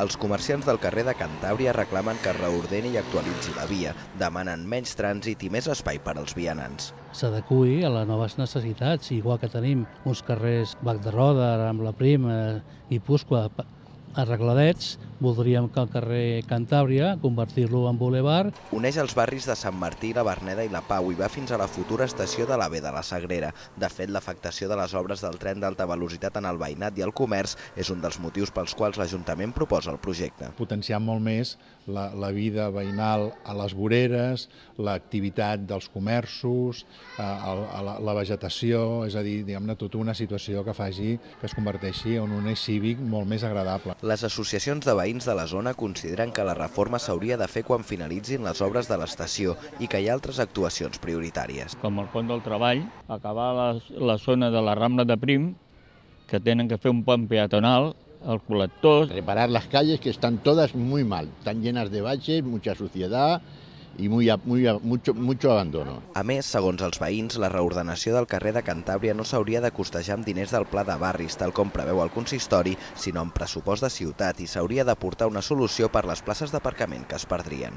Els comerciants del carrer de Cantàbria reclamen que es reordeni i actualitzi la via, demanen menys trànsit i més espai per als vianants. S'adeqüi a les noves necessitats, igual que tenim uns carrers Bac de Roda, Rambla Prim i Pusqua arregladets, voldríem que el carrer Cantàbria convertir-lo en bulevard. Uneix els barris de Sant Martí, la Verneda i la Pau i va fins a la futura estació de l'AVE de la Sagrera. De fet, l'afectació de les obres del tren d'alta velocitat en el veïnat i el comerç és un dels motius pels quals l'Ajuntament proposa el projecte. Potenciar molt més la vida veïnal a les voreres, l'activitat dels comerços, la vegetació, és a dir, diguem-ne, tota una situació que faci que es converteixi en un eix cívic molt més agradable. Les associacions de veïns de la zona consideren que la reforma s'hauria de fer quan finalitzin les obres de l'estació i que hi ha altres actuacions prioritàries. Com el pont del treball, acabar la zona de la Rambla de Prim, que tenen que fer un pont peatonal, el col·lector. Reparar las calles que están todas muy mal, están llenas de baches, mucha suciedad i mucho abandono. A més, segons els veïns, la reordenació del carrer de Cantàbria no s'hauria de costejar amb diners del pla de barris, tal com preveu el consistori, sinó amb pressupost de ciutat i s'hauria d'aportar una solució per les places d'aparcament que es perdrien.